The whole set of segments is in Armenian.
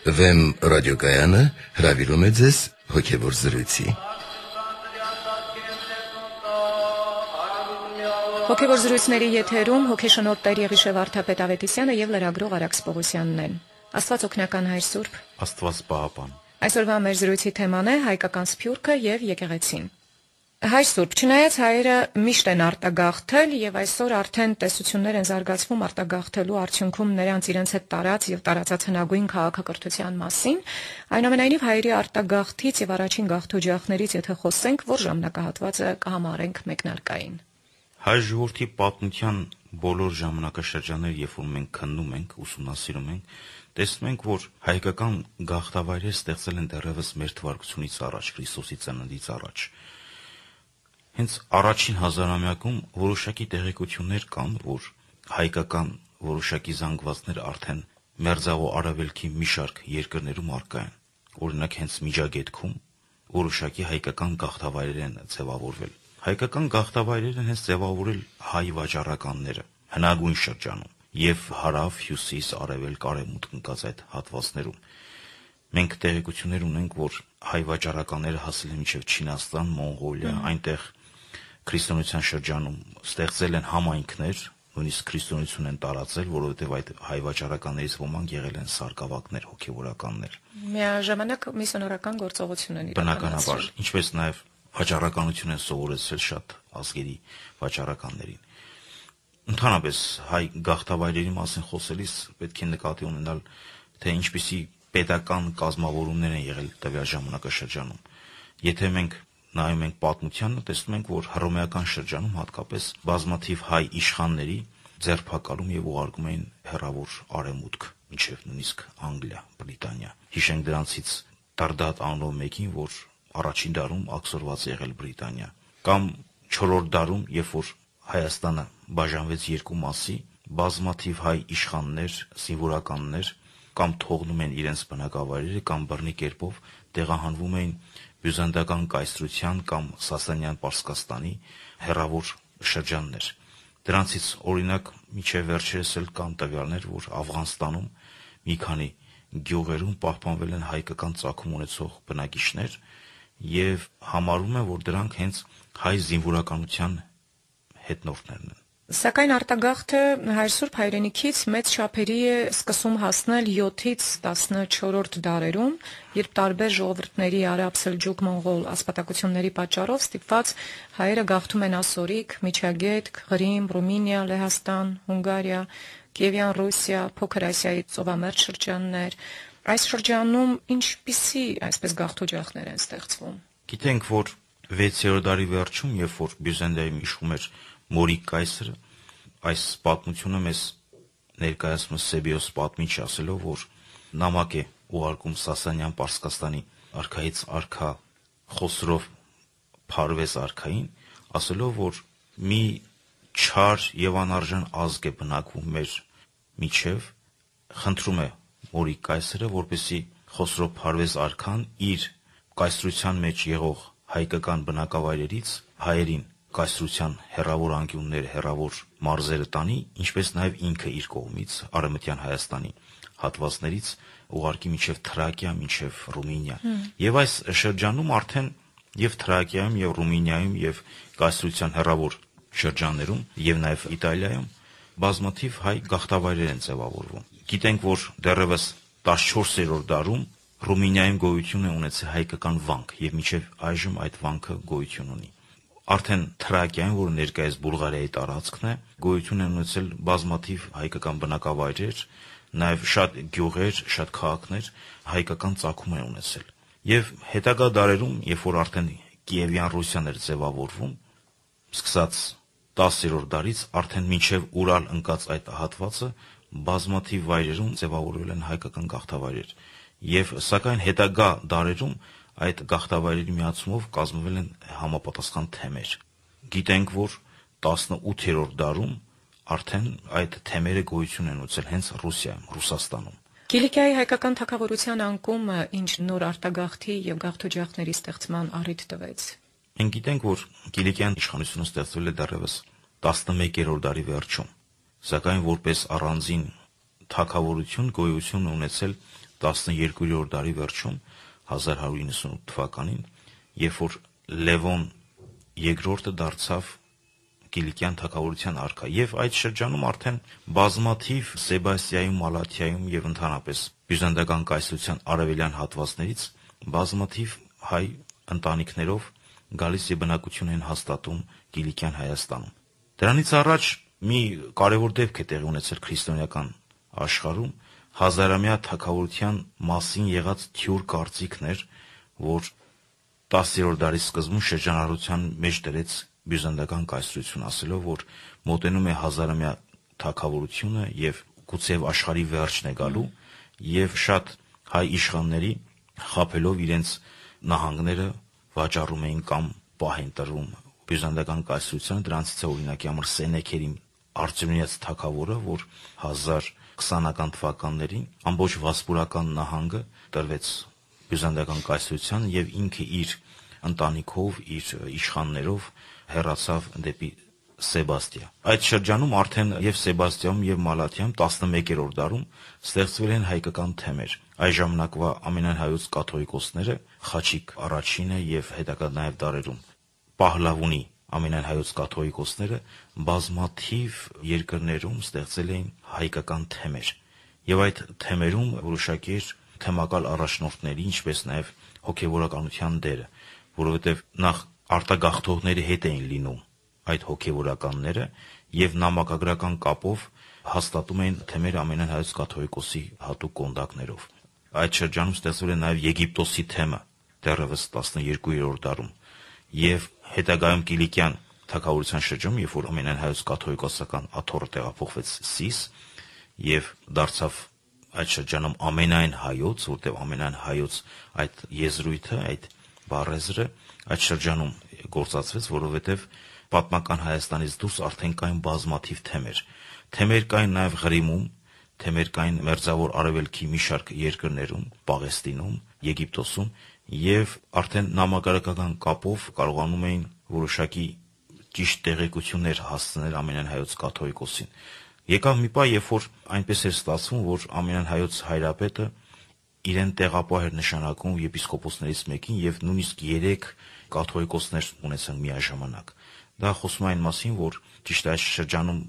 Վեմ ռադիոկայանը հրավիրում է ձեզ հոգևոր զրույցի։ Հոգևոր զրույցների եթերում հոգեշնորհ Տեր Եղիշեվ Վարդապետ Ավետիսյանը եւ լրագրող Արաքս Պողոսյանն են։ Աստված օգնական Հայր Սուրբ, Աստված պահապան։ Այսօրվա մեր զրույցի թեման է հայկական սփյուռքը եւ եկեղեցին։ Հայր Սուրբ, չնայած հայերը միշտ են արտագաղթել եւ այսօր արդեն տեսություններ են զարգացվում արտագաղթելու արդյունքում նրանց իրենց հետ տարած եւ տարածած հնագույն քաղաքակրթության մասին, այնուամենայնիվ հայերի արտագաղթից եւ առաջին գաղթօջախներից եթե խոսենք, որ ժամանակահատվածը կհամարենք մեկնարկային։ Հայ ժողովրդի պատմության բոլոր ժամանակաշրջանները, երբ որ մենք քննում ենք, ուսումնասիրում ենք, տեսնում ենք, որ հայկական գաղթավայրերը ստեղծել են դեռևս մեր թվարկությունից առաջ, Քրիստոսի ծննդից առաջ։ Հենց առաջին հազարամյակում որոշակի տեղեկություններ կան, որ հայկական որոշակի զանգվածներ արդեն մերձավոր արևելքի մի շարք երկրներում առկա են։ Օրինակ հենց Միջագետքում որոշակի հայկական գաղթավայրեր են ձևավորվել։ Հայկական գաղթավայրերը հենց ձևավորել հայ վաճառականները հնագույն շրջանում եւ հարավ, հյուսիս, արևելք, արևմուտք ընկած այդ հատվածներում։ Մենք տեղեկություններ ունենք, որ հայ վաճառականները հասել են մինչև Չինաստան, Մոնղոլիա, այնտեղ քրիստոնեության շրջանում ստեղծել են համայնքներ, նույնիսկ քրիստոնեություն են տարածել, որովհետև այդ հայ վաճառականներից ոմանք եղել են սարկավակներ, հոգևորականներ։ Միաժամանակ միսիոնարական գործողություն են իրականացրել։ Բնականաբար, ինչպես նաև վաճառականություն են սովորեցրել շատ ազգերի վաճառականներին։ Ընդհանրապես հայ գաղթավայրերի մասին խոսելիս պետք է նկատի ունենալ, թե ինչպիսի պետական կազմավորումներ են եղել տվյալ ժամանակաշրջանում։ Եթե մենք նայում ենք պատմությանը, տեսնում ենք, որ հռոմեական շրջանում հատկապես բազմաթիվ հայ իշխանների ձերբակալում եւ ուղարկում էին հեռավոր արևմուտք, մինչև նույնիսկ Անգլիա, Բրիտանիա։ Հիշենք դրանցից Տարդատ անունով մեկին, որ առաջին դարում աքսորված եղել Բրիտանիա, կամ 4-րդ դարում, երբ որ Հայաստանը բաժանվեց երկու մասի, բազմաթիվ հայ իշխաններ, զինվորականներ կամ թողնում են իրենց բնակավայրերը կամ բռնի կերպով տեղահանվում էին բյուզանդական կայսրության կամ Սասանյան Պարսկաստանի հեռավոր շրջաններ։ Դրանցից օրինակ միջև վերջերս էլ կան տվյալներ, որ Աֆղանստանում մի քանի գյուղերում պահպանվել են հայկական ծագում ունեցող բնակիչներ եւ համարում են, որ դրանք հենց հայ զինվորականության հետնորդներն են։ Սակայն արտագաղթը Հայր Սուրբ հայրենիքից մեծ չափերի է սկսում հասնել 7-ից 14-րդ դարերում, երբ տարբեր ժողովուրդների արաբ, սելջուկ, մոնղոլ ասպատակությունների պատճառով ստիպված հայերը գաղթում են Ասորիկ, Միջագետք, Ղրիմ, Ռումինիա, Լեհաստան, Հունգարիա, Կիևյան Ռուսիա, Փոքր Ասիայի ծովամերձ շրջաններ։ Այս շրջանում ինչպիսի այսպես գաղթօջախներ են ստեղծվում։ Գիտենք, որ 6-րդ դարի վերջում, երբ որ Բյուզանդիայում իշխում էր Մորիկ կայսրը, այս պատմությունը մեզ ներկայացնում է Սեբիոս պատմիչ ասելով, որ նամակ է ուղարկում Սասանյան Պարսկաստանի արքայից արքա Խոսրով Փարվեզ արքային, ասելով, որ մի չար եւ անարժան ազգ է բնակվում մեր միջև, խնդրում է Մորիկ կայսրը, որպեսզի Խոսրով Փարվեզ արքան իր կայսրության մեջ եղող հայկական բնակավայրերից հայերին կայսրության հեռավոր անկյուններ, հեռավոր մարզերը տանի, ինչպես նաև ինքը իր կողմից Արևմտյան Հայաստանի հատվածներից ուղարկի մինչև Թրակիա, մինչև Ռումինիա։ Եվ այս շրջանում արդեն եւ Թրակիայում, եւ Ռումինիայում, եւ կայսրության հեռավոր շրջաններում, եւ նաև Իտալիայում բազմաթիվ հայ գաղթավայրեր են ձևավորվում։ Գիտենք, որ դեռևս 14-րդ դարում Ռումինիայում գոյություն է ունեցել հայկական վանք, եւ մինչև այժմ այդ վանքը գոյություն ունի։ Արդեն Թրակիայում, որը ներկայիս Բուլղարիայի տարածքն է, գոյություն են ունեցել բազմաթիվ հայկական բնակավայրեր, նաև շատ գյուղեր, շատ քաղաքներ հայկական ծագում են ունեցել։ Եվ հետագա դարերում, երբ որ արդեն Կիևյան Ռուսիան էր ձևավորվում, սկսած 10-րդ դարից արդեն մինչև Ուրալ ընկած այդ հատվածը բազմաթիվ վայրերում ձևավորվել են հայկական գաղթավայրեր։ Եվ սակայն հետագա դարերում այդ գաղթավայրերի միացումով կազմվել են համապատասխան թեմեր։ Գիտենք, որ 18-րդ դարում արդեն այդ թեմերը գոյություն են ունեցել հենց Ռուսիայում, Ռուսաստանում։ Կիլիկիայի հայկական թագավորության անկումը ինչ նոր արտագաղթի եւ գաղթօջախների ստեղծման առիթ տվեց։ Մենք գիտենք, որ Կիլիկիան իշխանությունը ստեղծվել է դեռևս 11-րդ դարի վերջում, սակայն որպես առանձին թագավորություն գոյություն ունեցել 12-րդ դարի վերջում 1198 թվականին, երբ որ Լևոն II դարձավ Կիլիկյան թագավորության արքա, եւ այդ շրջանում արդեն բազմաթիվ Սեբաստիայում, Մալաթիայում եւ ընդհանրապես բյուզանդական կայսրության արևելյան հատվածներից բազմաթիվ հայ ընտանիքներով գալիս եւ բնակություն են հաստատում Կիլիկյան Հայաստանում։ Դրանից առաջ մի կարևոր դեպք է տեղի ունեցել քրիստոնեական աշխարհում, հազարամյա թագավորության մասին եղած թյուր կարծիքն էր, որ 10-րդ դարի սկզբում շրջանառության մեջ դրեց բյուզանդական կայսրություն, ասելով, որ մոտենում է հազարամյա թագավորությունը եւ գուցեև աշխարհի վերջն է գալու, եւ շատ հայ իշխանների խաբելով իրենց նահանգները վաճառում էին կամ պահ են տրում բյուզանդական կայսրությանը։ Դրանցից է օրինակի համար Սենեքերի Արտեմիաց թագավորը, որ 1020-ական թվականներին ամբողջ վասպուրական նահանգը տրվեց բյուզանդական կայսրության եւ ինքը իր ընտանիքով, իր իշխաններով հեռացավ դեպի Սեբաստիա։ Այդ շրջանում արդեն եւ Սեբաստիայում եւ Մալաթիայում 11-րդ դարում ստեղծվել են հայկական թեմեր։ Այս ժամանակվա ամենահայոց կաթողիկոսները Խաչիկ առաջինը եւ հետագա նաեւ դարերում Պահլավունի ամենահայոց կաթողիկոսները բազմաթիվ երկրներում ստեղծել էին հայկական թեմեր։ Եվ այդ թեմերում որոշակի էր թեմակալ առաջնորդների, ինչպես նաեւ հոգեվորականության դերը, որովհետեւ նախ արտագաղթողների հետ էին լինում այդ հոգեվորականները եւ նամակագրական կապով հաստատում էին թեմերը ամենահայոց կաթողիկոսի հատուկ կոնդակներով։ Այդ շրջանում ստեղծվել է նաեւ Եգիպտոսի թեմը դեռևս 12-րդ դարում եւ հետագայում Կիլիկյան թագավորության շրջանում, երբ որ ամենահայոց կաթողիկոսական աթոռը տեղափոխվեց Սիս եւ դարձավ այդ շրջանում ամենայն հայոց, որտեղ ամենայն հայոց այդ եզրույթը, այդ բառեզրը այդ շրջանում գործածվեց, որովհետեւ պատմական Հայաստանից դուրս արդեն կային բազմաթիվ թեմեր։ Թեմեր կային նաեւ Ղրիմում, թեմեր կային Մերձավոր Արևելքի մի շարք երկրներում, Պաղեստինում, Եգիպտոսում, եւ արդեն նամակագրական կապով կարողանում էին որոշակի ճիշտ տեղեկություններ հասցնել ամենահայոց կաթողիկոսին։ Եկավ մի պահ, երբ որ այնպես էր ստացվում, որ ամենահայոց հայրապետը իրեն տեղապահ էր նշանակում եպիսկոպոսներից մեկին եւ նույնիսկ 3 կաթողիկոսներ ունեցան միաժամանակ։ Դա խոսում է այն մասին, որ ճիշտ այս շրջանում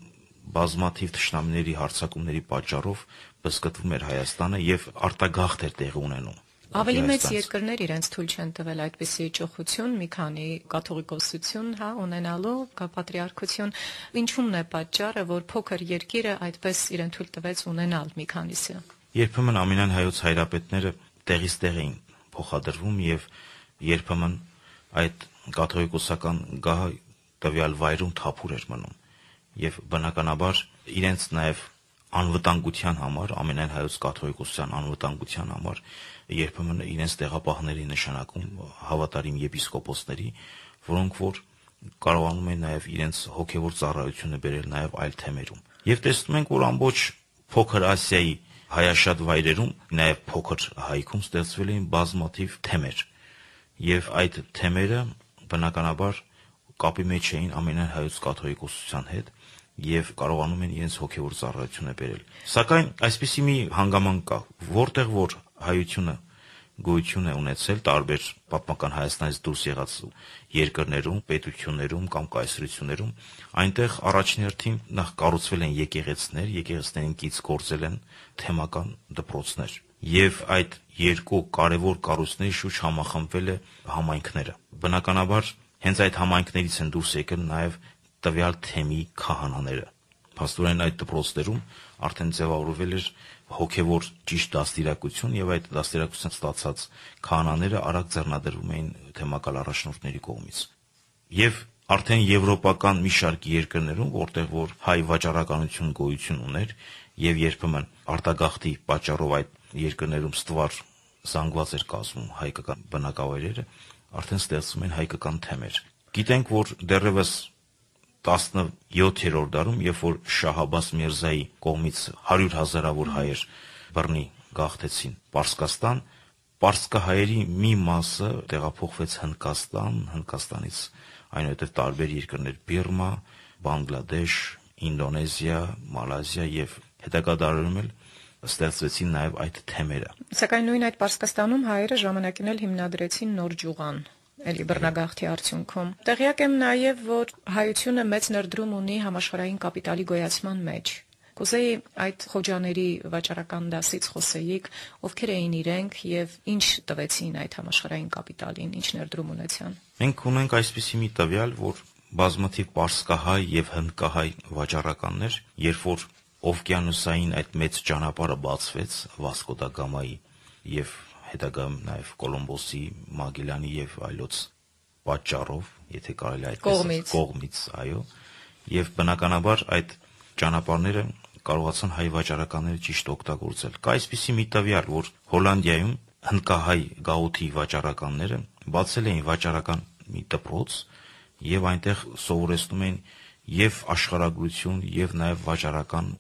բազմաթիվ թշնամիների հարձակումների պատճառով բզկտվում էր Հայաստանը եւ արտագաղթ էր տեղի ունենում։ Ավելի մեծ երկրներ իրենց թույլ չեն տվել այդպիսի ճոխություն, մի քանի կաթողիկոսություն, ունենալու կապատրիարքություն։ Ինչու՞մն է պատճառը, որ փոքր երկիրը այդպես իրեն թույլ տվեց ունենալ մի քանիսը։ Երբեմն ամենայն հայոց հայրապետները տեղից տեղ էին փոխադրվում եւ երբեմն այդ կաթողիկոսական գահը տվյալ վայրում թափուր էր մնում եւ բնականաբար իրենց նաեւ անվտանգության համար, ամենայն հայոց կաթողիկոսության անվտանգության համար երբեմն իրենց տեղապահների նշանակում հավատարիմ եպիսկոպոսների, որոնք որ կարողանում են նաեւ իրենց հոգեվոր ծառայությունը բերել նաեւ այլ թեմերում։ Եվ տեսնում ենք, որ ամբողջ փոքր Ասիայի հայաշատ վայրերում, նաեւ փոքր Հայքում ստեղծվել էին բազմաթիվ թեմեր։ Եվ այդ թեմերը բնականաբար կապի մեջ էին ամենայն հայոց կաթողիկոսության հետ եւ կարողանում են իրենց հոգեվոր ծառայությունը բերել։ Սակայն այսպիսի մի հանգամանք կա, որտեղ որ հայությունը գոյություն է ունեցել տարբեր պատմական Հայաստանից դուրս եղած երկրներում, պետություններում կամ կայսրություններում, այնտեղ առաջին հերթին նախ կառուցվել են եկեղեցիներ, եկեղեցիներին կից գործել են թեմական դպրոցներ։ Եվ այդ երկու կարևոր կառույցների շուրջ համախմբվել է համայնքները։ Բնականաբար հենց այդ համայնքներից են դուրս եկել նաեւ տվյալ թեմի քահանաները։ Փաստորեն այդ դպրոցներում արդեն ձևավորվել էր հոգևոր ճիշտ դաստիարակություն եւ այդ դաստիարակությունը ստացած քահանաները արագ ձեռնադրվում էին թեմակալ առաջնորդների կողմից։ Եվ արդեն եվրոպական մի շարք երկրներում, որտեղ որ հայ վաճառականություն գոյություն ուներ եւ երբեմն արտագաղթի պատճառով այդ երկրներում ստվար զանգված էր կազմում հայկական բնակավայրերը, արդեն ստեղծվում են հայկական թեմեր։ Գիտենք, որ դեռևս 17-րդ դարում, երբ որ Շահ Աբբաս Միրզայի կողմից 100,000-ավոր հայեր բռնի գաղթեցին Պարսկաստան, պարսկահայերի մի մասը տեղափոխվեց Հնդկաստան, Հնդկաստանից այնուհետև տարբեր երկրներ՝ Բիրմա, Բանգլադեշ, Ինդոնեզիա, Մալազիա եւ հետագա դարերում էլ ստեղծվեցին նաև այդ թեմերը։ Սակայն նույն այդ Պարսկաստանում հայերը ժամանակին էլ հիմնադրեցին նոր ջուղան, էլի բռնագաղթի արդյունքում։ Տեղյակ եմ նաև, որ հայությունը մեծ ներդրում ունի համաշխարհային կապիտալի գոյացման մեջ։ Կուզեի այդ խոջաների վաճառական դասից խոսեիք, ովքեր էին իրենք եւ ինչ տվեցին այդ համաշխարհային կապիտալին, ինչ ներդրում ունեցան։ Մենք ունենք այսպիսի մի տվյալ, որ բազմաթիվ պարսկահայ եւ հնդկահայ վաճառականներ, երբ որ օվկիանոսային այդ մեծ ճանապարհը բացվեց Վասկո դա Գամայի եւ հետագայում նաև Կոլումբոսի, Մագելլանի եւ այլոց պատճառով, եթե կարելի այդպես կողմից, այո, եւ բնականաբար այդ ճանապարհները կարողացան հայ վաճառականները ճիշտ օգտագործել։ Կա այսպիսի մի տվյալ, որ Հոլանդիայում հնդկահայ գաղութի վաճառականները բացել էին վաճառական մի դպրոց եւ այնտեղ սովորեցնում էին եւ աշխարհագրություն եւ նաեւ վաճառական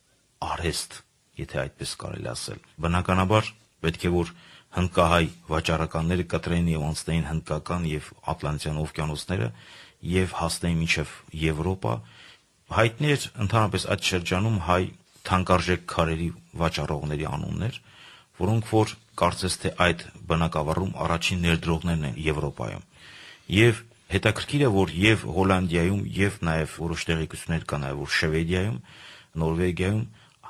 արհեստ, եթե այդպես կարելի ասել։ Բնականաբար պետք է որ հնդկահայ վաճառականները կտրեին եւ անցնեին հնդկական եւ Ատլանտյան օվկիանոսները եւ հասնեին մինչեւ Եվրոպա։ Հայտնի էր ընդհանրապես այդ շրջանում հայ թանկարժեք քարերի վաճառողների անուններ, որոնք որ կարծես թե այդ բնակավարում առաջին ներդրողներն են Եվրոպայում։ Եվ հետաքրքիր է, որ եւ Հոլանդիայում եւ նաեւ որոշ տեղեկություններ կա նաեւ որ Շվեդիայում, Նորվեգիայում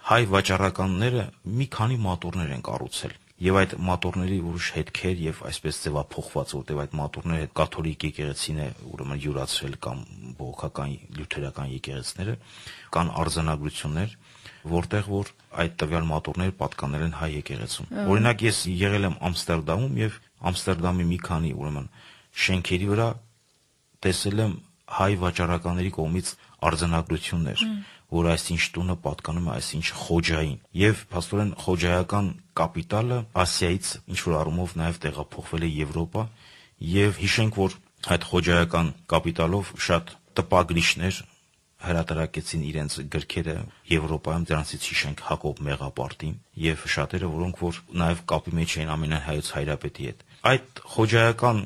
հայ վաճառականները մի քանի մատորներ են կառուցել։ Եվ այդ մատորների որոշ հետքեր եւ այսպես ձևափոխված, որտեղ այդ մատորները կաթոլիկ եկեղեցին է ուրեմն յուրացրել կամ բողոքական լյութերական եկեղեցիները, կան արձանագրություններ, որտեղ որ այդ տվյալ մատորները պատկանել են հայ եկեղեցուն։ Օրինակ ես եղել եմ Ամստերդամում եւ Ամստերդամի մի քանի ուրեմն շենքերի վրա տեսել եմ հայ վաճառականների կողմից արձանագրություններ, որ այսինչ տունը պատկանում է այսինչ խոջային, եւ փաստորեն խոջայական կապիտալը Ասիայից ինչ որ առումով նաեւ տեղափոխվել է Եվրոպա, եւ հիշենք, որ այդ խոջայական կապիտալով շատ տպագրիչներ հրատարակեցին իրենց գրքերը Եվրոպայում, դրանցից հիշենք Հակոբ Մեղապարտին եւ շատերը, որոնք որ նաեւ կապի մեջ էին ամենահայոց հայրապետի հետ։ Այդ խոջայական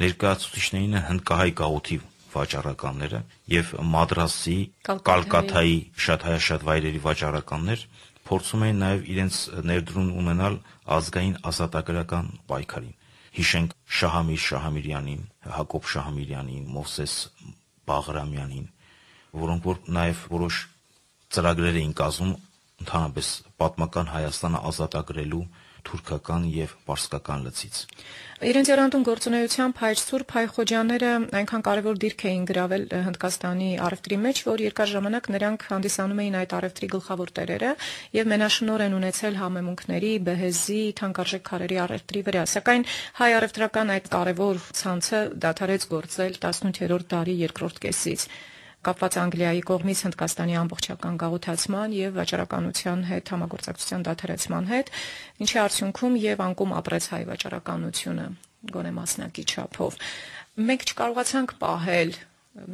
ներկայացուցիչներին են հնդկահայ գաղութի վաճառականները եւ Մադրասի, Կալկաթայի շատ վայրերի վաճառականներ փորձում էին նաեւ իրենց ներդրում ունենալ ազգային ազատագրական պայքարին։ Հիշենք Շահամիր Շահամիրյանին, Հակոբ Շահամիրյանին, Մովսես Բաղրամյանին, որոնք որ նաեւ որոշ ծրագրեր էին կազմում ընդհանրապես պատմական Հայաստանը ազատագրելու թուրքական եւ պարսկական լծից։ Իրենց երանդուն գործունեությամբ հայ Սուրբ հայ խոջաները այնքան կարևոր դիրք էին գրավել Հնդկաստանի առևտրի մեջ, որ երկար ժամանակ նրանք հանդիսանում էին այդ առևտրի գլխավոր տերերը եւ մենաշնորհ են ունեցել համեմունքների, բեհեզի, թանկարժեք քարերի առևտրի վրա։ Սակայն հայ առևտրական այդ կարևոր ցանցը դադարեց գործել 18-րդ դարի երկրորդ կեսից, կապված Անգլիայի կողմից Հնդկաստանի ամբողջական գաղութացման եւ վաճառականության հետ համագործակցության դադարեցման հետ, ինչի արդյունքում եւ անկում ապրեց հայ վաճառականությունը, գոնե մասնակի չափով։ Մենք չկարողացանք պահել,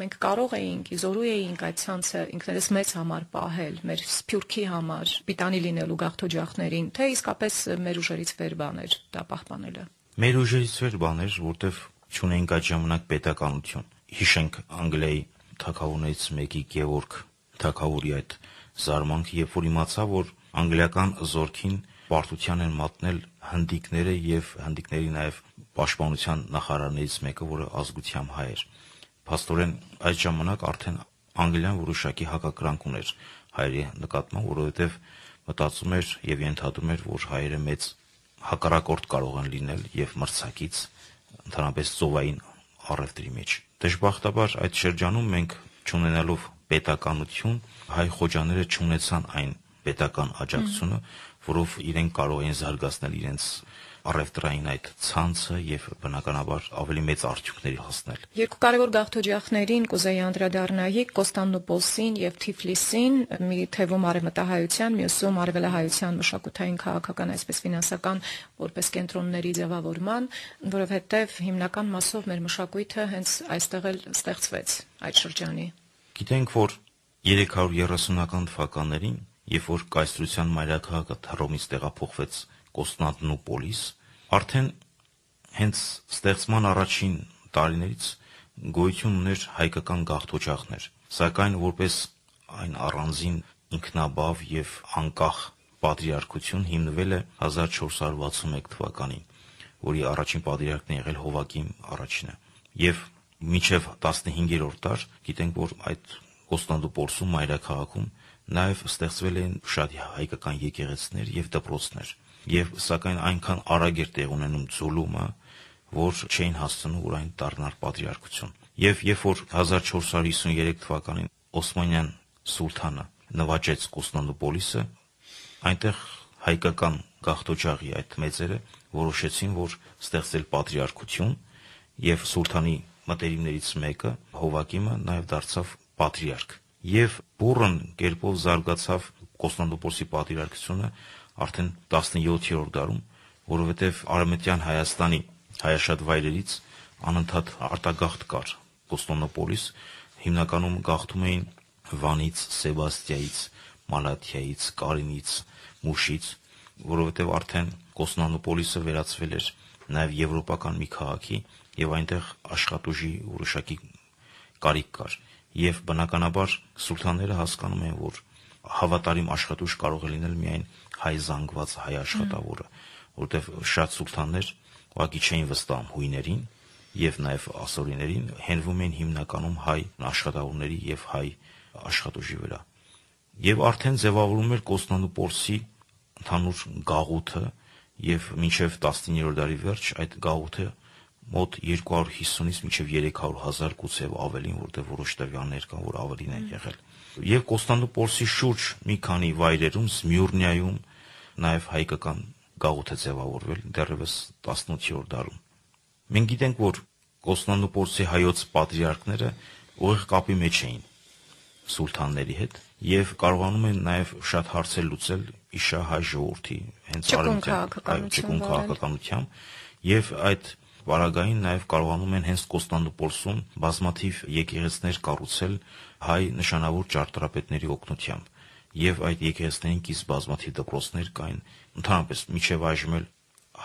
մենք կարող էինք, զորու էինք այդ ցանցը ինքներս մեծ համար պահել, մեր սփյուռքի համար, պիտանի լինելու գաղթօջախներին, թե իսկապես մեր ուժերից վեր բաներ դա պահպանելը։ Մեր ուժերից վեր բաներ, որտեվ չունենք այդ ժամանակ պետականություն։ Հիշենք Անգլիայի թագավորներից մեկի Գևորգ թագավորի այդ զարմանքը, երբ որ իմացա, որ անգլիական զորքին պարտության են մատնել հնդիկները եւ հնդիկների նաեւ պաշտպանության նախարարներից մեկը, որը ազգությամբ հայ էր։ Փաստորեն այդ ժամանակ արդեն Անգլիան որոշակի հակակրանք ուներ հայերի նկատմամբ, որովհետեւ մտածում էր եւ ենթադրում էր, որ հայերը մեծ հակառակորդ կարող են լինել եւ մրցակից ընդհանրապես ծովային առևտրի մեջ։ Դժբախտաբար այդ շրջանում մենք չունենալով պետականություն, հայ խոջաները չունեցան այն պետական աջակցությունը, որով իրենք կարող էին զարգացնել իրենց առևտրային այդ ցանցը եւ բնականաբար ավելի մեծ արդյունքների հասնել։ Երկու կարևոր գաղթօջախներին կուզեի անդրադառնայի Կոստանդնուպոլսին եւ Թիֆլիսին, մի թվում արևմտահայության, մյուսում արևելահայության մշակութային քաղաքական, այսպես ֆինանսական որպես կենտրոնների ձևավորման, որովհետեւ հիմնական մասով մեր մշակույթը հենց այստեղ էլ ստեղծվեց այդ շրջանի։ Գիտենք, որ 330-ական թվականներին, երբ որ կայսրության մայրաքաղաքը Հռոմից տեղափոխվեց Կոստանդնուպոլիս, արդեն հենց ստեղծման առաջին տարիներից գոյություն ուներ հայկական գաղթօջախներ, սակայն որպես այն առանձին ինքնաբավ եւ անկախ պատրիարքություն հիմնվել է 1461 թվականին, որի առաջին պատրիարքն է եղել Հովակիմ առաջինը։ Եվ մինչև 15-րդ դար գիտենք, որ այդ Կոստանդնուպոլսում մայրաքաղաքում նաև ստեղծվել են շատ հայկական եկեղեցիներ եւ դպրոցներ, եւ սակայն այնքան արագ էր տեղ ունենում ձուլումը, որ չէին հասցնում, որ այն դառնար պատրիարքություն։ Եվ երբ որ 1453 թվականին Օսմանյան սուլթանը նվաճեց Կոստանդնուպոլիսը, այնտեղ հայկական գաղթօջախի այդ մեծերը որոշեցին, որ ստեղծել պատրիարքություն, եւ սուլթանի մտերիմներից մեկը Հովակիմը նաև դարձավ պատրիարք։ Եվ բուրըն կերպով զարգացավ Կոստանդնուպոլսի պատրիարքությունը արդեն 17-րդ դարում, որովհետև Արևմտյան Հայաստանի հայաշատ վայրերից անընդհատ արտագաղթ կար Կոստանդնուպոլիս, հիմնականում գաղթում էին Վանից, Սեբաստիայից, Մալաթիայից, Կարինից, Մուշից, որովհետև արդեն Կոստանդնուպոլիսը վերածվել էր նաև եվրոպական մի քաղաքի եւ այնտեղ աշխատուժի որոշակի կարիք կար։ Եվ բնականաբար սուլթանները հասկանում են, որ հավատարիմ աշխատուժ կարող է լինել միայն հայ զանգված հայ աշխատավորը, որովհետև շատ սուլթաններ ուղղակի չէին վստահում հույներին եւ նաեւ ասորիներին, հենվում էին հիմնականում հայ աշխատավորների եւ հայ աշխատուժի վրա։ Եւ արդեն ձևավորում էր Կոստանդնուպոլսի ընդհանուր գաղութը եւ մինչեւ 19-րդ դարի վերջ այդ գաղութը մոտ 250-ից մինչև 300,000 գուցե ավելին, որտեղ որոշ տվյալներ կան, որ ավելին են եղել։ Եվ Կոստանդնուպոլսի շուրջ մի քանի վայրերում, Սմյուրնիայում նաև հայկական գաղութ է ձևավորվել դեռևս 18-րդ դարում։ Մենք գիտենք, որ Կոստանդնուպոլսի հայոց պատրիարքները ուղիղ կապի մեջ էին սուլթանների հետ եւ կարողանում են նաև շատ հարցեր լուծել իշահայ ժողովրդի հենց արևմտյան քաղաքականությամբ եւ այդ Վարագային նաև կարողանում են հենց Կոստանդնուպոլսում բազմաթիվ եկեղեցիներ կառուցել հայ նշանավոր ճարտարապետների օգնությամբ, եւ այդ եկեղեցիներին կից բազմաթիվ դպրոցներ կային, ընդհանրապես մինչև այժմ էլ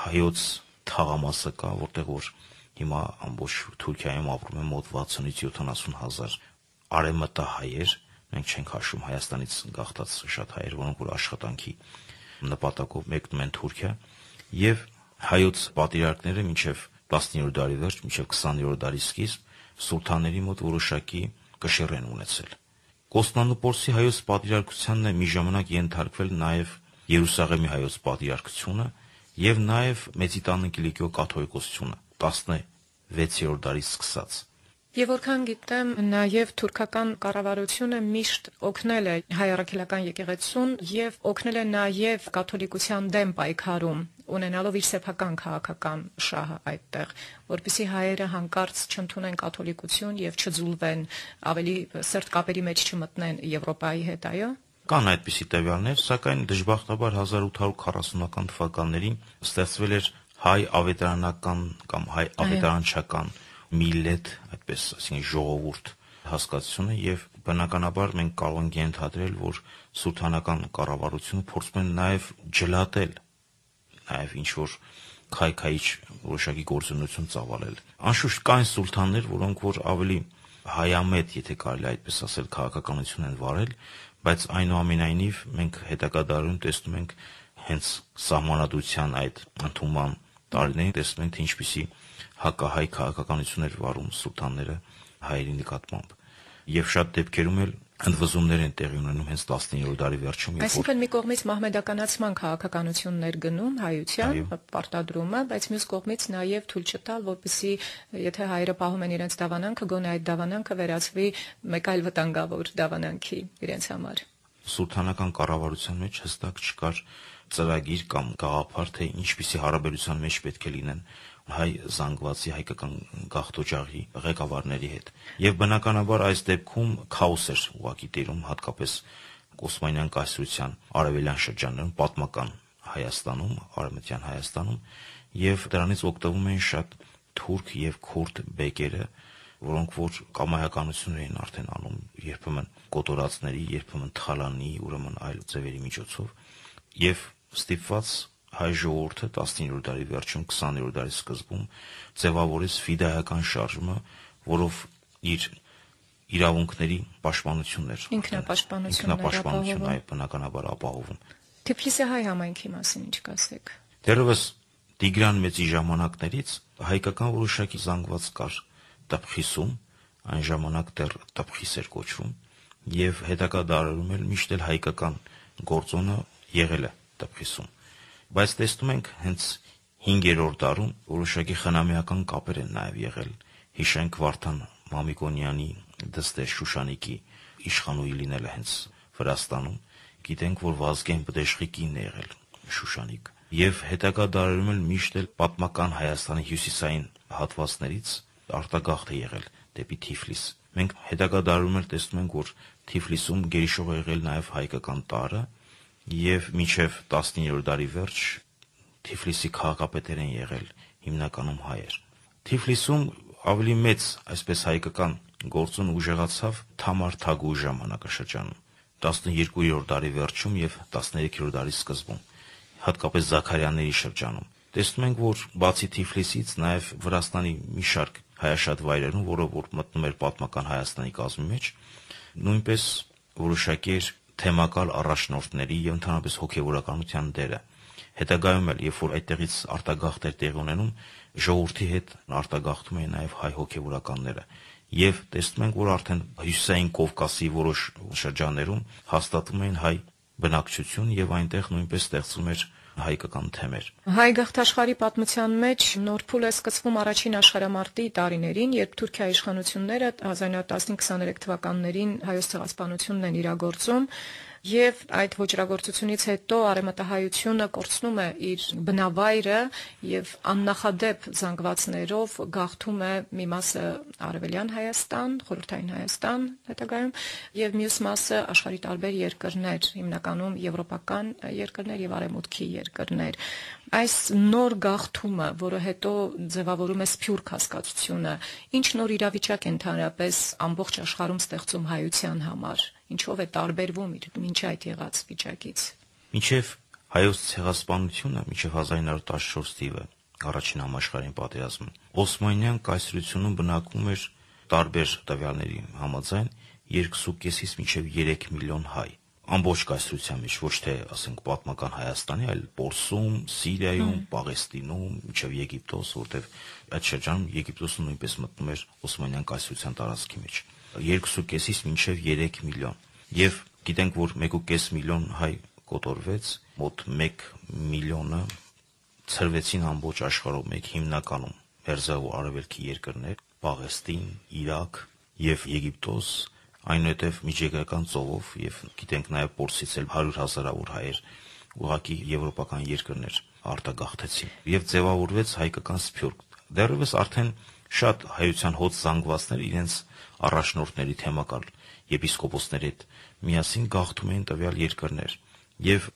հայոց թաղամասը կա, որտեղ որ հիմա ամբողջ Թուրքիայում ապրում են մոտ 60-ից 70,000 արևմտահայեր, մենք չենք հաշվում Հայաստանից գաղթած շատ հայեր, որոնք որ աշխատանքի նպատակով մեկնում են Թուրքիա, եւ հայոց պատրիարքները մինչև 19-րդ դարի վերջ, մինչև 20-րդ դարի սկիզբ սուլթանների մոտ որոշակի կշիռ են ունեցել։ Կոստանդնուպոլսի հայոց պատրիարքությանն է մի ժամանակ ենթարկվել նաև Երուսաղեմի հայոց պատրիարքությունը եւ նաև Մեծիտան Կիլիկիո կաթողիկոսությունը 16-րդ դարից սկսած։ Եվ որքան գիտեմ, նաև թուրքական կառավարությունը միշտ օգնել է հայ առաքելական եկեղեցուն եւ օգնել է նաև կաթոլիկության դեմ պայքարում, ունենալով իր սեփական քաղաքական շահը այդտեղ, որպեսզի հայերը հանկարծ չընդունեն կաթոլիկություն եւ չձուլվեն, ավելի սերտ կապերի մեջ չմտնեն Եվրոպայի հետ, այո։ Կան այդպիսի տվյալներ, սակայն դժբախտաբար 1840-ական թվականներին ստեղծվել էր հայ ավետարանական կամ հայ ավետարանչական միլլետ, այդպես, այսինքն ժողովուրդ հասկացությունը, եւ բնականաբար մենք կարող ենք ենթադրել, որ սուլթանական կառավարությունը փորձում է նաեւ ջլատել, նաեւ ինչ որ քայքայիչ որոշակի գործունեություն ծավալել։ Անշուշտ կան սուլթաններ, որոնք որ ավելի հայամետ, եթե կարելի այդպես ասել, քաղաքականություն են վարել, բայց այնուամենայնիվ մենք հետագա դարերում տեսնում ենք հենց սահմանադրության այդ ընդունման տարիներին տեսնում ենք, թե ինչպիսի հակահայ քաղաքականություն էր վարում սուլթանները հայերի նկատմամբ, եւ շատ դեպքերում էլ ընդվզումներ են տեղի ունենում հենց 19-րդ դարի վերջում։ Այսինքն մի կողմից մահմեդականացման քաղաքականություններ գնում հայության պարտադրումը, բայց մյուս կողմից նաև թույլ չտալ, որպեսզի եթե հայերը պահում են իրենց դավանանքը, գոնե այդ դավանանքը վերածվի մեկ այլ վտանգավոր դավանանքի իրենց համար։ Սուլթանական կառավարության մեջ հստակ չկար ծրագիր կամ գաղափար, թե ինչպիսի հարաբերության մեջ պետք է լինեն հայ զանգվածի հայկական գաղթօջախի ղեկավարների հետ։ Եվ բնականաբար այս դեպքում քաոս էր ուղղակի տիրում, հատկապես Օսմանյան կայսրության արևելյան շրջաններում, պատմական Հայաստանում, արևմտյան Հայաստանում, եւ դրանից օգտվում էին շատ թուրք եւ քուրդ բեկերը, որոնք որ կամայականություն էին արդեն անում, երբեմն կոտորածների, երբեմն թալանի, ուրեմն այլ ձևերի միջոցով, եւ ստիպված հայ ժողովուրդը 19-րդ դարի վերջում, 20-րդ դարի սկզբում ձևավորեց ֆիդայական շարժումը, որով իր իրավունքների պաշտպանությունն էր, ինքնապաշտպանություն այ բնականաբար ապահովում։ Թիֆլիսի հայ համայնքի մասին ինչ կասեք։ Դեռևս Տիգրան Մեծի ժամանակներից հայկական որոշակի զանգված կար Տփխիսում, այն ժամանակ դեռ Տփխիս էր կոչվում, եւ հետագա դարերում էլ միշտ էլ հայկական գործոնը եղել է Տփխիսում։ Բայց տեսնում ենք հենց 5-րդ դարում որոշակի խնամիական կապեր են նաեւ եղել։ Հիշենք Վարդան Մամիկոնյանի դստեր Շուշանիկի իշխանուհի լինելը հենց Վրաստանում։ Գիտենք, որ Վազգեն Բդեշխիկին է եղել Շուշանիկ։ Եվ հետագա դարերում էլ միշտ էլ պատմական Հայաստանի հյուսիսային հատվածներից արտագաղթ է եղել դեպի Թիֆլիս։ Մենք հետագա դարերում էլ տեսնում ենք, որ Թիֆլիսում գերիշխող է եղել նաև հայկական տարը, եւ մինչև 19-րդ դարի վերջ Թիֆլիսի քաղաքապետեր են եղել հիմնականում հայեր։ Թիֆլիսում ավելի մեծ, այսպես հայկական գործուն ուժեղացավ Թամար Թագուի ժամանակաշրջանում 12-րդ դարի վերջում եւ 13-րդ դարի սկզբում, հատկապես Զաքարյանների շրջանում։ Տեսնում ենք, որ բացի Թիֆլիսից նաև Վրաստանի մի շարք հայաշատ վայրերում, որը որ մտնում էր պատմական Հայաստանի կազմի մեջ, նույնպես որոշակի էր թեմակալ առաջնորդների եւ ընդհանրապես հոգեվորականության դերը։ Հետագայում էլ, երբ որ այդտեղից արտագաղթ էր տեղի ունենում, ժողովրդի հետ արտագաղթում էին նաև հայ հոգեվորականները։ Եվ տեսնում ենք, որ արդեն հյուսիսային Կովկասի որոշ շրջաններում հաստատվում էին հայ բնակչություն եւ այնտեղ նույնպես ստեղծվում էր հայկական թեմեր։ Հայ գաղթաշխարհի պատմության մեջ նոր փուլ է սկսվում առաջին աշխարհամարտի տարիներին, երբ Թուրքիայի իշխանությունները 1915-23 թվականներին հայոց ցեղասպանությունն են իրագործում, եւ այդ ոճրագործությունից հետո արևմտահայությունը կորցնում է իր բնավայրը եւ աննախադեպ զանգվածներով գաղթում է մի մասը արևելյան Հայաստան, խորհրդային Հայաստան հետագայում, եւ մյուս մասը աշխարհի տարբեր երկրներ, հիմնականում եվրոպական երկրներ եւ արևմուտքի երկրներ։ Այս նոր գաղթումը, որը հետո ձևավորում է սփյուռք հասկացությունը, ինչ նոր իրավիճակ է ընդհանրապես ամբողջ աշխարհում ստեղծում հայության համար, ինչով է տարբերվում իր մինչ այդ եղած վիճակից։ Մինչև հայոց ցեղասպանությունը, մինչև 1914 թիվը, առաջին համաշխարհային պատերազմը, Օսմանյան կայսրությունում բնակվում էր տարբեր տվյալների համաձայն 2.5-ից մինչև 3 միլիոն հայ։ Ամբողջ կայսրության մեջ, ոչ թե, ասենք, պատմական Հայաստանի, այլ Պորսում, Սիրիայում, Պաղեստինում, մինչև Եգիպտոս, որտեղ այդ շրջանում Եգիպտոսը նույնպես մտնում էր Օսմանյան կայսրության տարածքի մեջ։ 2.5-ից մինչև 3 միլիոն։ Եվ գիտենք, որ 1.5 միլիոն հայ կոտորվեց, մոտ 1 միլիոնը ցրվեցին ամբողջ աշխարհում, մեկ հիմնականում Մերձավոր արևելքի երկրներ, Պաղեստին, Իրաք եւ Եգիպտոս, այնուհետև միջերկրական ծովով եւ գիտենք նաեւ Պորսից էլ 100,000-ավոր հայեր ուղղակի եվրոպական երկրներ արտագաղթեցին եւ ձևավորվեց հայկական սփյուռք։ Դեռևս արդեն շատ հայության հոծ զանգվածներ իրենց առաջնորդների թեմակալ եպիսկոպոսների հետ միասին գաղթում էին տվյալ երկրներ եւ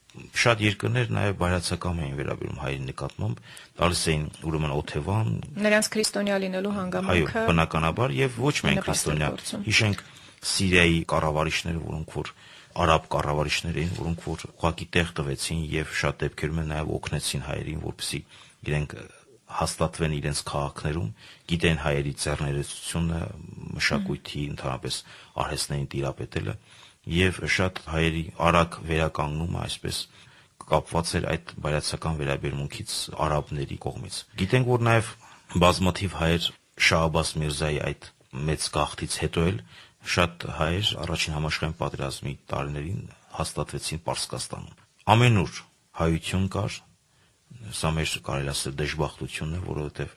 շատ երկրներ նաեւ բայրացակամ էին վերաբերում հայերի նկատմամբ, տալիս էին ուրեմն օթևան, նրանց քրիստոնյա լինելու հանգամանքը, այո, բնականաբար եւ ոչ միայն քրիստոնյա։ Հիշենք Սիրիայի կառավարիչները, որոնք որ արաբ կառավարիչներ էին, որոնք որ ուղղակի տեղ տվեցին եւ շատ դեպքերում նաեւ օգնեցին հայերին, որպեսզի իրենք հաստատվեն իրենց քաղաքներում, գիտեն հայերի ձեռներեցությունը, մշակույթի, ընդհանրապես արհեստներին տիրապետելը եւ շատ հայերի արագ վերականգնումը այսպես կապված էր այդ բայրացական վերաբերմունքից արաբների կողմից։ Գիտենք, որ նաեւ բազմաթիվ հայեր Շահ Աբբաս Միրզայի այդ մեծ գաղթից հետո էլ շատ հայեր առաջին համաշխարհային պատերազմի տարիներին հաստատվեցին Պարսկաստանում։ Ամենուր հայություն կար, սա մեր կարելի ասել դժբախտությունն է, որովհետև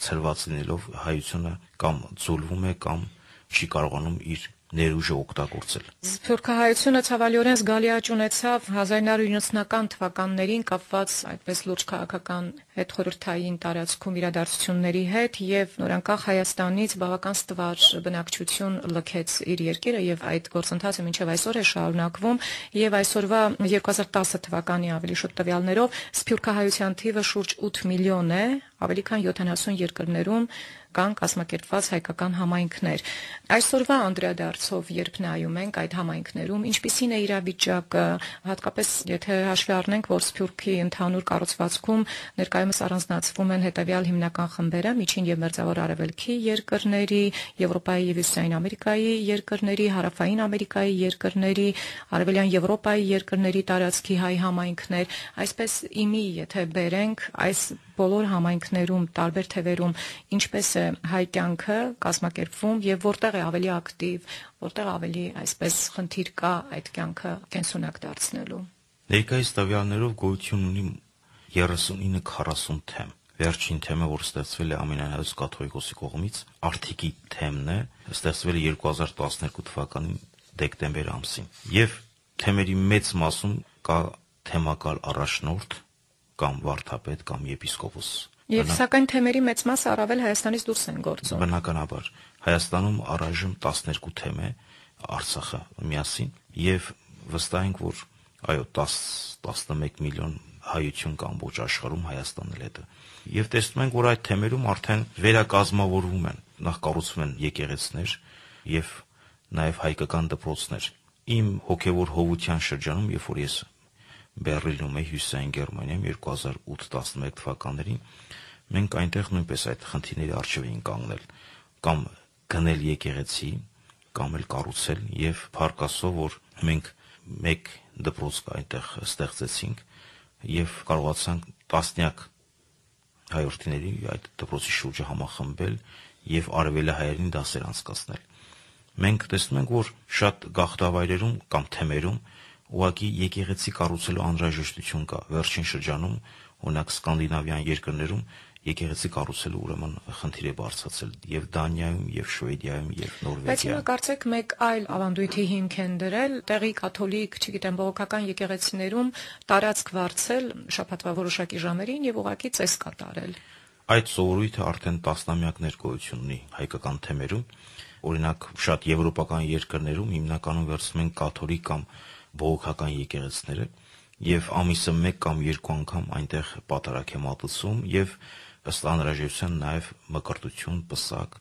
ցրված լինելով հայությունը կամ ձուլվում է կամ չի կարողանում իր ներուժը օգտագործել։ Սփյուռքահայությունը ցավալիորեն զգալի աճ ունեցավ 1990-ական թվականներին կապված այդպես լուրջ քաղաքական հետխորհրդային տարածքում իրադարձությունների հետ եւ նորանկախ Հայաստանից բավական ստվար բնակչություն լքեց իր երկիրը եւ այդ գործընթացը մինչեւ այսօր է շարունակվում եւ այսօրվա 2010 թվականի ավելի շուտ տվյալներով սփյուռքահայության թիվը շուրջ 8 միլիոն է ավելի քան 70 երկրներում կան կազմակերպված հայկական համայնքներ։ Այսօրվա անդրադարձով երբ նայում ենք այդ համայնքներում, ինչպիսին է իրավիճակը, հատկապես եթե հաշվի առնենք, որ Սփյուռքի ընդհանուր կառուցվածքում ներկայումս առանձնացվում են հետևյալ հիմնական խմբերը՝ Միջին եւ Մերձավոր Արևելքի երկրների, Եվրոպայի եւ Հյուսիսային Ամերիկայի երկրների, Հարավային Ամերիկայի երկրների, Արևելյան Եվրոպայի երկրների տարածքի հայ համայնքներ, այսպես իմի եթե բերենք այս բոլոր համայնքներում, տարբեր թևերում ինչպես է հայ կյանքը կազմակերպվում եւ որտեղ է ավելի ակտիվ, որտեղ ավելի այսպես խնդիր կա այդ կյանքը կենսունակ դարձնելու։ Ներկայիս տվյալներով գոյություն ունի 39-40 թեմ։ Վերջին թեմը, որ ստեղծվել է Ամենահայոց կաթողիկոսի կողմից, Արթիկի թեմն է, ստեղծվել է 2012 թվականի դեկտեմբեր ամսին։ Եվ թեմերի մեծ մասում կա թեմակալ առաջնորդ կամ վարդապետ կամ եպիսկոպոս։ Եվ սակայն թեմերի մեծ մասը առավել Հայաստանից դուրս են գործում։ Բնականաբար Հայաստանում առայժմ 12 թեմ է, Արցախը միասին, եւ վստահ ենք, որ այո 10-11 միլիոն հայություն կամ ոչ աշխարհում Հայաստանն էլ է։ Եվ տեսնում ենք, որ այդ թեմերում արդեն վերակազմավորվում են, նախ կառուցվում են եկեղեցիներ եւ նաեւ հայկական դպրոցներ։ Իմ հոգեվոր հովության շրջանում, երբ որ ես Բեռլինում էի Հյուսիսային Գերմանիայում 2008-11 թվականներին, մենք այնտեղ նույնպես այդ խնդիրների առջև էինք կանգնել, կամ գնել եկեղեցի, կամ էլ կառուցել, եւ փառք Աստծո, որ մենք մեկ դպրոց այնտեղ ստեղծեցինք եւ կարողացանք տասնյակ հայրենիների այդ դպրոցի շուրջը համախմբել եւ արևելահայերին դասեր անցկացնել։ Մենք տեսնում ենք, որ շատ գաղթավայրերում կամ թեմերում ուղղակի եկեղեցի կառուցելու անհրաժեշտություն կա։ Վերջին շրջանում, օրինակ սկանդինավյան երկրներում եկեղեցի կառուցելու ուրեմն խնդիր է բարձրացել եւ Դանիայում, եւ Շվեդիայում, եւ Նորվեգիայում։ Բայց հիմա կարծեք մեկ այլ ավանդույթի հիմք են դրել, տեղի կաթոլիկ, չգիտեմ, բողոքական եկեղեցիներում տարածք վարձել շաբաթվա որոշակի ժամերին եւ ուղղակի ծես կատարել։ Այդ սովորույթը արդեն տասնամյակներ գոյություն ունի հայկական թեմերում։ Օրինակ, շատ եվրոպական երկրներում հիմնականում վերցնում են կաթոլիկ կամ բողոքական եկեղեցիները եւ ամիսը 1 կամ 2 անգամ այնտեղ պատարագ է մատուցում եւ ըստ անհրաժեշտության նաեւ մկրտություն, պսակ։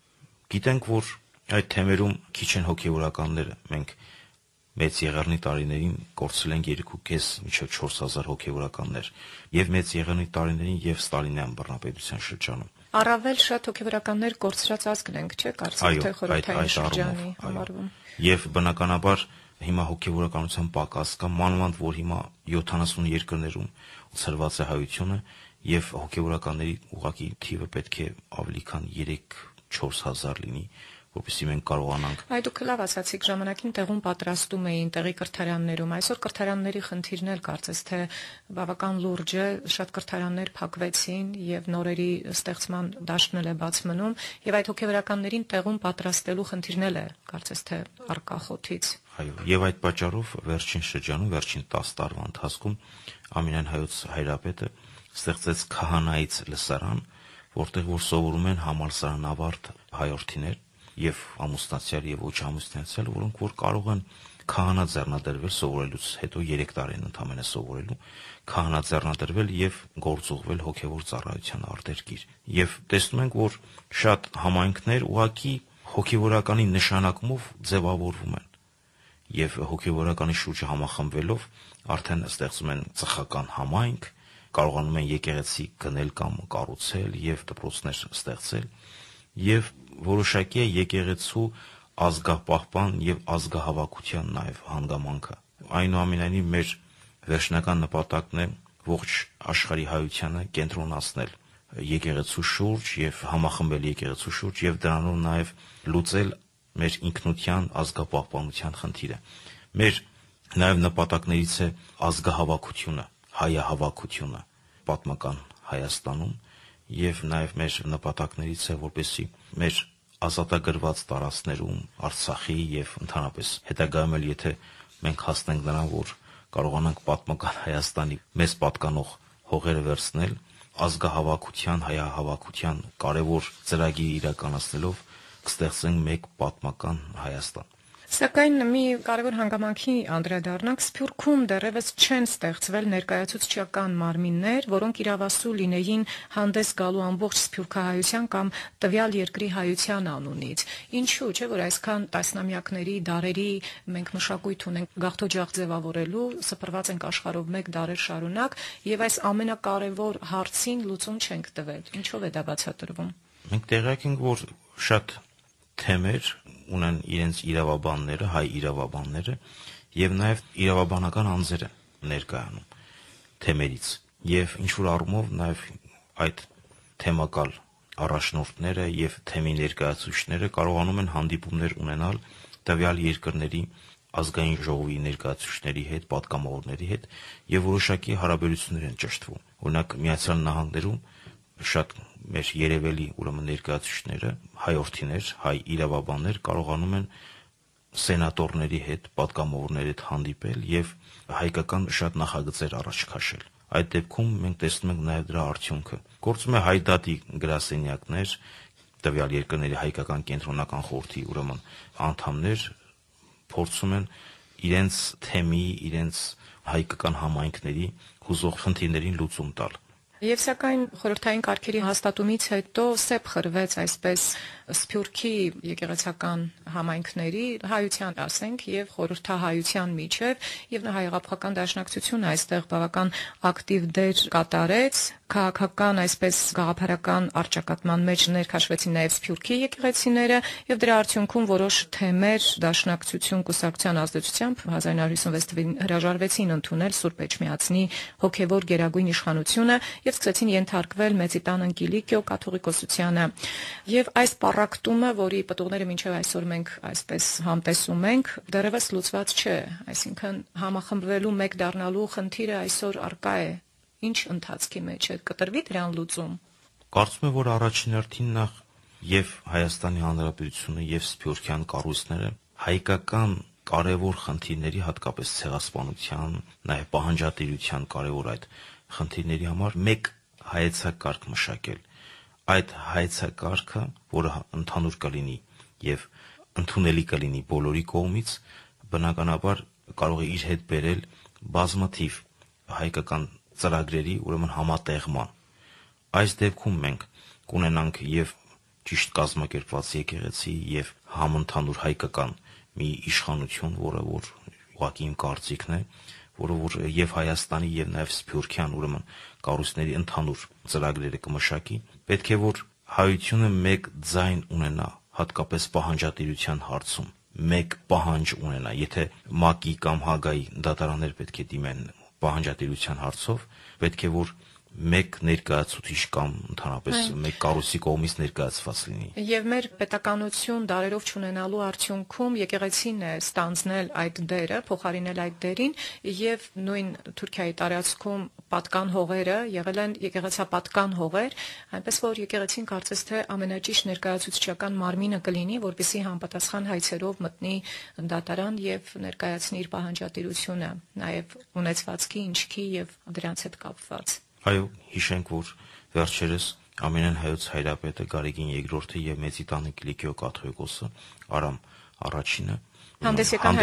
Գիտենք, որ այդ թեմերում քիչ են հոգեվորականները։ Մենք մեծ եղեռնի տարիներին կորցրել ենք 2.5 մինչև 4000 հոգեվորականներ եւ մեծ եղեռնի տարիներին եւ Ստալինյան բռնապետության շրջանում։ Առավել շատ հոգեվորականներ կորցրած ազգն ենք, չէ՞, կարծեք թե խորհրդային շրջանի համարվում։ Եվ բնականաբար հիմա հոգեվորականության պակաս կա, մանավանդ որ հիմա 70 երկրներում ցրված է հայությունը եւ հոգեվորականների ուղղակի թիվը պետք է ավելի քան 3-4 հազար լինի, որպեսզի մենք կարողանանք։ Այ դուք լավ ասացիք, ժամանակին տեղում պատրաստում էին տեղի կրթարաններում։ Այսօր կրթարանների խնդիրն էլ կարծես թե բավական լուրջ է, շատ կրթարաններ փակվեցին եւ նորերի ստեղծման դաշտն էլ է բաց մնում եւ այդ հոգեվորականներին տեղում պատրաստելու խնդիրն էլ է կարծես թե առկա խոթից։ Այո, եւ այդ պատճառով վերջին շրջանում, վերջին 10 տարվա ընթացքում Ամենայն հայոց հայրապետը ստեղծեց քահանայից լսարան, որտեղ որ սովորում են համալսարանավարտ հայրենիներ եւ ամուսնացյալ եւ ոչ ամուսնացյալ, որոնք որ կարող են քահանա ձեռնադրվել սովորելուց հետո 3 տարի են ընդամենը սովորելու, քահանա ձեռնադրվել եւ գործուղվել հոգեվոր ծառայության արտերկիր։ Եվ տեսնում ենք, որ շատ համայնքներ ուղակի հոգեվորականի նշանակումով ձևավորվում են եւ հոգեվորականի շուրջը համախմբվելով արդեն ստեղծում են ծխական համայնք, կարողանում են եկեղեցի գնել կամ կառուցել եւ դպրոցներ ստեղծել եւ որոշակի է եկեղեցու ազգապահպան եւ ազգահավաքության նաեւ հանգամանքը։ Այնուամենայնիվ մեր վերջնական նպատակն է ողջ աշխարհի հայությանը կենտրոնացնել եկեղեցու շուրջ եւ համախմբել եկեղեցու շուրջ եւ դրանով նաեւ լուծել մեր ինքնության ազգապահպանության խնդիրը։ Մեր նաեւ նպատակներից է ազգահավաքությունը, հայահավաքությունը պատմական Հայաստանում եւ նաեւ մեր նպատակներից է, որպեսզի մեր ազատագրված տարածքներում, Արցախի եւ ընդհանրապես հետագայում էլ եթե մենք հասնենք նրան, որ կարողանանք պատմական Հայաստանի մեզ պատկանող հողերը վերցնել, ազգահավաքության, հայահավաքության կարևոր ծրագիր իրականացնելով կստեղծենք մեկ պատմական Հայաստան։ Սակայն մի կարևոր հանգամանքի անդրադառնանք, Սփյուռքում դեռևս չեն ստեղծվել ներկայացուցչական մարմիններ, որոնք իրավասու լինեին հանդես գալու ամբողջ սփյուռքահայության կամ տվյալ երկրի հայության անունից։ Ինչու՞ չէ, որ այսքան տասնամյակների, դարերի մենք մշակույթ ունենք գաղթօջախ ձևավորելու, սփռված ենք աշխարհով մեկ դարեր շարունակ, եւ այս ամենակարևոր հարցին լուծում չենք տվել։ Ինչով է դա բացատրվում։ Մենք տեղյակ ենք, որ շատ թեմեր ունեն իրենց իրավաբանները, հայ իրավաբանները եւ նաեւ իրավաբանական անձերը ներկայանում թեմերից եւ ինչ որ առումով նաեւ այդ թեմակալ առաջնորդները եւ թեմի ներկայացուցիչները կարողանում են հանդիպումներ ունենալ տվյալ երկրների ազգային ժողովի ներկայացուցիչների հետ, պատգամավորների հետ եւ որոշակի հարաբերություններ են ճշտվում։ Օրինակ Միացյալ Նահանգներում շատ մեր երևելի ուրեմն ներկայացուցիչները, հայորդիներ, հայ իրավաբաններ կարողանում են սենատորների հետ, պատգամավորների հետ հանդիպել եւ հայկական շատ նախագծեր առաջ քաշել։ Այդ դեպքում մենք տեսնում ենք նաեւ դրա արդյունքը։ Գործում է հայդատի գրասենյակներ, տվյալ երկրների հայկական կենտրոնական խորհրդի ուրեմն անդամներ փորձում են իրենց թեմի, իրենց հայկական համայնքների հուզող խնդիրներին լուծում տալ։ Եվ սակայն խորհրդային կարգերի հաստատումից հետո սեպ խրվեց այսպես Սփյուռքի եկեղեցական համայնքների հայության, ասենք, եւ խորհրդահայության միջև, եւ հայ-աղափական դաշնակցությունը այստեղ բավական ակտիվ դեր կատարեց, քաղաքական այսպես գաղափարական արճակատման մեջ ներքաշվեցին նաեւ Սփյուռքի եկեղեցիները, եւ դրա արդյունքում որոշ թեմեր դաշնակցություն կուսակցության ազդեցությամբ 1956 թվականին հրաժարվեցին ընդունել Սուրբ Էջմիածնի հոգեվոր գերագույն իշխանությունը եւ սկսեցին ենթարկվել Մեծի տան Անկիլիկիո կաթողիկոսությանը։ Եվ այս պառակտումը, որի պտուղները մինչև այսօր մենք այսպես համտեսում ենք, դեռևս լուծված չէ, այսինքն համախմբվելու մեկ դառնալու խնդիրը այսօր արկա է։ Ինչ ընթացքի մեջ է, կտրվի դրան լուծում։ Կարծում եմ, որ առաջին հերթին նախ եւ Հայաստանի Հանրապետությունը եւ Սփյուռքյան կառույցները հայկական կարևոր խնդիրների, հատկապես ցեղասպանության, նաեւ պահանջատիրության կարևոր այդ խնդիրների համար մեկ հայեցակարգ մշակել։ Այդ հայեցակարգը, որը ընդհանուր կլինի եւ ընդունելի կլինի բոլորի կողմից, բնականաբար կարող է իր հետ բերել բազմաթիվ հայկական ծրագրերի ուրեմն համատեղման։ Այս դեպքում մենք կունենանք եւ ճիշտ կազմակերպված եկեղեցի եւ համընդհանուր հայկական մի իշխանություն, որը որ ուղղակի իմ կարծիքն է, որը որ եւ Հայաստանի եւ նաեւ Սփյուռքյան ուրեմն կառույցների ընդհանուր ծրագրերը կմշակի, պետք է որ հայությունը մեկ ձայն ունենա, հատկապես պահանջատիրության հարցում, մեկ պահանջ ունենա, եթե ՄԱԿ-ի կամ Հագայի դատարաններ պետք է դիմեն պահանջատիրության հարցով, պետք է որ մեկ ներկայացուցիչ կամ ընդհանրապես մեկ կառույցի կողմից ներկայացված լինի։ Եվ մեր պետականություն դարերով չունենալու արդյունքում եկեղեցին է ստանձնել այդ դերը, փոխարինել այդ դերին, եւ նույն Թուրքիայի տարածքում պատկան հողերը եղել են եկեղեցապատկան հողեր, այնպես որ եկեղեցին կարծես թե ամենաճիշտ ներկայացուցչական մարմինը կլինի, որպեսզի համապատասխան հայցերով մտնի դատարան եւ ներկայացնի իր պահանջատիրությունը, նաեւ ունեցվածքի, ինչքի եւ դրանց հետ կապված։ Այո, հիշենք, որ վերջերս ամենայն հայոց հայրապետը Գարեգին II եւ Մեծի տան Անկիլիկիո կաթողիկոսը Արամ առաջինը հանդես եկան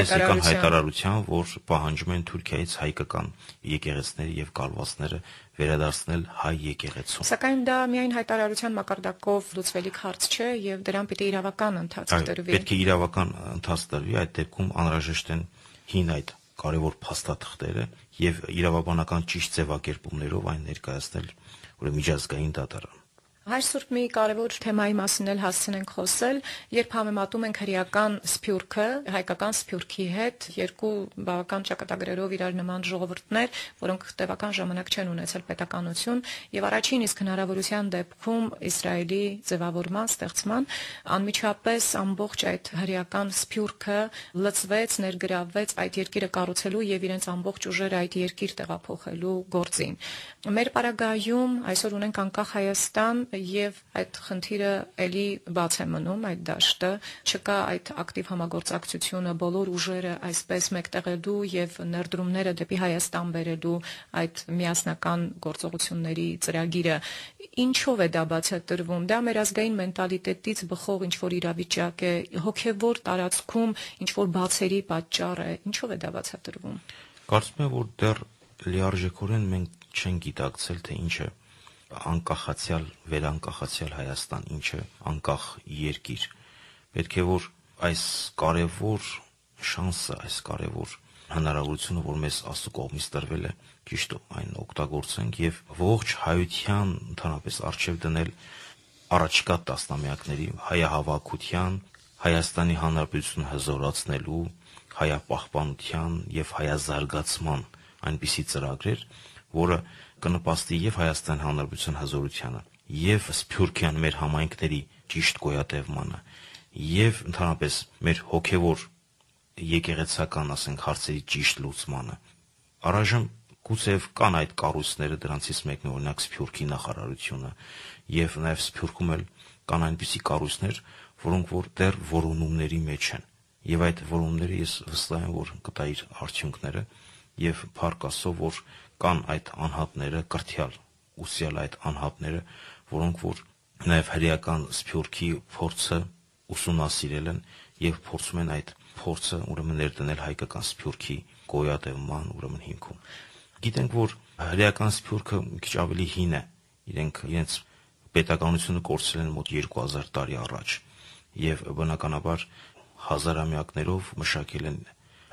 հայտարարության, որ պահանջում են Թուրքիայից հայկական եկեղեցիները եւ կալվածները վերադարձնել հայ եկեղեցուն։ Սակայն դա միայն հայտարարության մակարդակով լուծվելիք հարց չէ եւ դրան պետք է իրավական ընթացք տրվի։ Պետք է իրավական ընթացք տրվի, այդ դեպքում անհրաժեշտ են հին այդ կարևոր փաստաթղթերը եւ իրավաբանական ճիշտ ձևակերպումներով այն ներկայացնել ուրեմն միջազգային դատարան։ Հայր Սուրբ մի կարևոր թեմայի մասին էլ հասցնենք խոսել, երբ համեմատում ենք հրեական Սփյուռքը հայկական Սփյուռքի հետ, երկու բավական ճակատագրերով իրար նման ժողովուրդներ, որոնք տևական ժամանակ չեն ունեցել պետականություն, եւ առաջին իսկ հնարավորության դեպքում Իսրայելի ձևավորման, ստեղծման, անմիջապես ամբողջ այդ հրեական Սփյուռքը լծվեց, ներգրավվեց այդ երկիրը կառուցելու եւ իրենց ամբողջ ուժերը այդ երկիր տեղափոխելու գործին։ Մեր պարագայում այսօր ունենք անկախ Հայաստան եւ այդ խնդիրը էլի բաց է մնում, այդ դաշտը, չկա այդ ակտիվ համագործակցությունը, բոլոր ուժերը այսպես մեկտեղելու եւ ներդրումները դեպի Հայաստան բերելու այդ միասնական գործողությունների ծրագիրը, ինչով է դա բացատրվում? Դա մեր ազգային մենտալիտետից բխող ինչ-որ իրավիճակ է, հոգևոր տարածքում ինչ-որ բացերի պատճառ է, ինչով է դա բացատրվում? Կարծում եմ, որ դեռ լիարժեքորեն մենք չենք գիտակցել, թե ինչ է անկախացյալ, վերանկախացյալ Հայաստան, ինչ է անկախ երկիր։ Պետք է որ այս կարևոր շանսը, այս կարևոր հնարավորությունը, որ մեզ Աստծո կողմից տրվել է, ճիշտ այն օգտագործենք եւ ողջ հայության ընդհանրապես արժեվ դնել առաջիկա տասնամյակների հայահավաքության, Հայաստանի Հանրապետությունը հզորացնելու, հայապահպանության եւ հայազարգացման այնպիսի ծրագրեր, որը կնպաստի եւ Հայաստանի Հանրապետության հզորությանը, եւ Սփյուռքյան մեր համայնքների ճիշտ գոյատևմանը, եւ ընդհանրապես մեր հոգեվոր եկեղեցական, ասենք, հարցերի ճիշտ լուծմանը։ Առայժմ գուցեև կան այդ կառույցները, դրանցից մեկն է օրինակ Սփյուռքի նախարարությունը, եւ նաեւ Սփյուռքում էլ կան այնպիսի կառույցներ, որոնք որ դեռ որոնումների մեջ են, եւ այդ որոնումները ես վստահ եմ, որ կտա իր արդյունքները, եւ փառք Աստծո, որ կան այդ անհատները, կրթյալ ուսյալ այդ անհատները, որոնք որ նաեւ հրեական Սփյուռքի փորձը ուսումնասիրել են եւ փորձում են այդ փորձը ուրեմն ներդնել հայկական Սփյուռքի գոյատևման ուրեմն հիմքում։ Գիտենք, որ հրեական Սփյուռքը մի քիչ ավելի հին է, իրենց պետականությունը կորցրել են մոտ 2000 տարի առաջ եւ բնականաբար հազարամյակներով մշակել են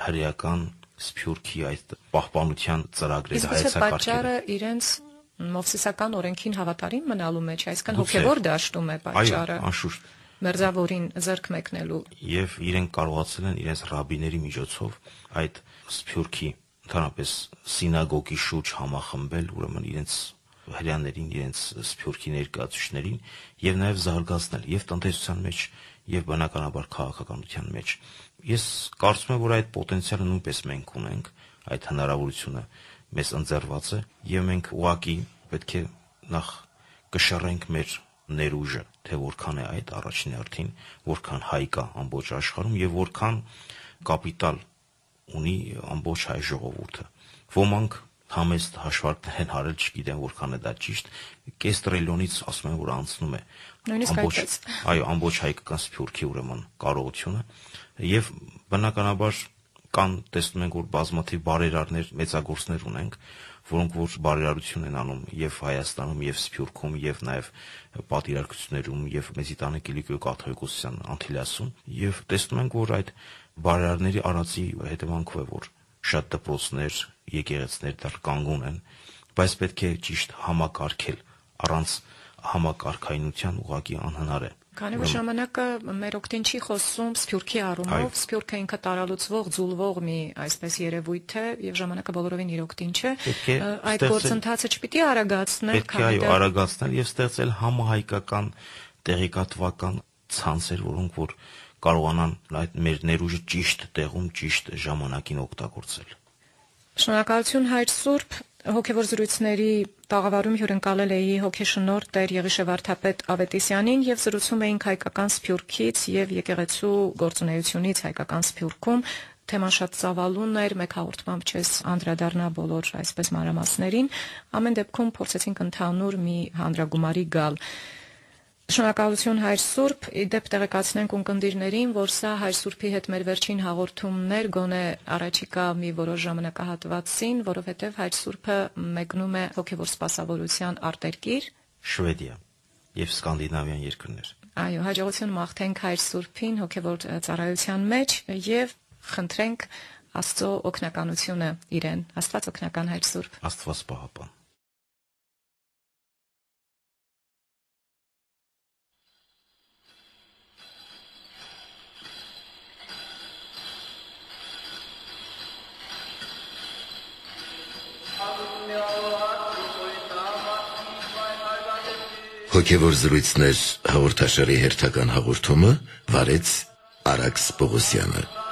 հրեական Սփյուռքի այդ պահպանության ծրագրերը, հայեցակարգերը։ Պատճառը իրենց մովսիսական օրենքին հավատարիմ մնալու մեջ, այսինքն հոգևոր դաշտում է պատճառը։ Այո, անշուշտ։ Մերձավորին ձեռք մեկնելու։ Եվ իրենք կարողացել են իրենց ռաբիների միջոցով այդ Սփյուռքի ընդհանրապես սինագոգի շուրջ համախմբել, ուրեմն իրենց հրեաներին, իրենց Սփյուռքի ներկայացուցիչներին եւ նաեւ զարգացնել եւ տնտեսության մեջ եւ բնականաբար քաղաքականության մեջ։ Ես կարծում եմ, որ այդ պոտենցիալը նույնպես մենք ունենք, այդ հնարավորությունը մեզ ընձեռված է եւ մենք ուղղակի պետք է նախ կշռենք մեր ներուժը, թե որքան է այդ առաջին հերթին, որքան հայ կա ամբողջ աշխարհում եւ որքան կապիտալ ունի ամբողջ հայ ժողովուրդը։ Ոմանք համեստ հաշվարկներ են արել, չգիտեմ որքան է դա ճիշտ, կես տրիլիոնից ասում են, որ անցնում է ամբողջ հայկական Սփյուռքի ուրեմն կարողությունը եւ բնականաբար կան, տեսնում ենք, որ բազմաթիվ բարերարներ, մեծագործներ ունենք, որոնք որ բարերարություն են անում եւ Հայաստանում եւ Սփյուռքում եւ նաեւ պատիրակություններում եւ Մեծի տանը Կիլիկիո կաթողիկոսության Անտիլիասում եւ տեսնում ենք, որ այդ բարերարների արածի հետևանքով է, որ շատ դպրոցներ, եկեղեցիներ դեռ կանգուն են, բայց պետք է ճիշտ համակարգել, առանց համակարգայնության ուղղակի անհնար է։ Քանի որ ժամանակը մեր օգտին չի խոսում Սփյուռքի առումով, Սփյուռքը ինքը տարալուծվող, ձուլվող մի այսպես երևույթ է եւ ժամանակը բոլորովին իր օգտին չէ։ Այդ գործընթացը չպիտի արագացնել, քանի որ արագացնել եւ ստեղծել համահայկական տեղեկատվական ցանցեր, որոնք որ կարողանան այդ մեր ներուժը ճիշտ տեղում, ճիշտ ժամանակին օգտագործել։ Շնորհակալություն Հայր Սուրբ, հոգևոր զրույցների տաղավարում հյուրընկալել էի հոգեշնորհ Տեր Եղիշե վարդապետ Ավետիսյանին եւ զրուցում էինք հայկական Սփյուռքից եւ եկեղեցու գործունեությունից հայկական Սփյուռքում։ Թեման շատ ծավալուն էր, մեկ հաղորդմամբ չես անդրադառնա բոլոր այսպես մանրամասներին, ամեն դեպքում փորձեցինք ընդհանուր մի հանրագումարի գալ։ Շնորհակալություն Հայր Սուրբ, իդեպ տեղեկացնենք ունկնդիրներին, որ սա Հայր Սուրբի հետ մեր վերջին հաղորդումներ, գոնե առաջիկա մի որոշ ժամանակահատվածին, որովհետև Հայր Սուրբը մեկնում է հոգևոր սպասավորության արտերկիր Շվեդիա եւ Սկանդինավյան երկրներ։ Այո, հաջողություն մաղթենք Հայր Սուրբին հոգևոր ծառայության մեջ եւ խնդրենք Աստծո օգնականությունը իրեն։ Աստված օգնական Հայր Սուրբ։ Աստված պահապան։ Հոգևոր զրույցներ հաղորդաշարի հերթական հաղորդումը վարեց Արաքս Պողոսյանը։